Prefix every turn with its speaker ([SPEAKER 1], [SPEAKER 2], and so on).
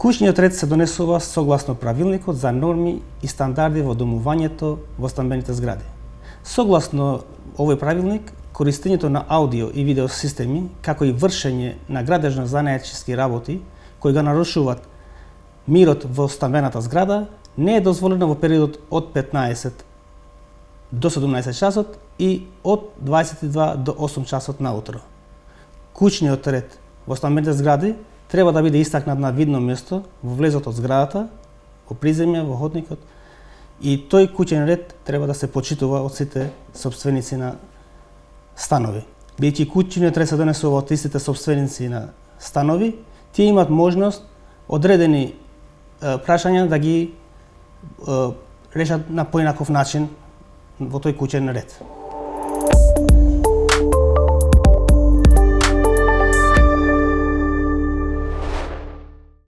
[SPEAKER 1] Куќниот ред се донесува согласно правилникот за норми и стандарди во домувањето во стамбените згради. Согласно овој правилник, користењето на аудио и видео системи, како и вршење на градежно-занаетчиски работи кои го нарушуваат мирот во стамбената зграда, не е дозволено во периодот од 15 до 17 часот и од 22 до 8 часот наутро. Куќниот ред во стамбените згради треба да биде истакнат на видно место во влезот од зградата, во приземја, во ходникот, и тој куќен ред треба да се почитува од сите сопственици на станови. Бидејќи куќниот ред се донесува од истите сопственици на станови, тие имаат можност одредени прашања да ги решат на поинаков начин во тој куќен ред.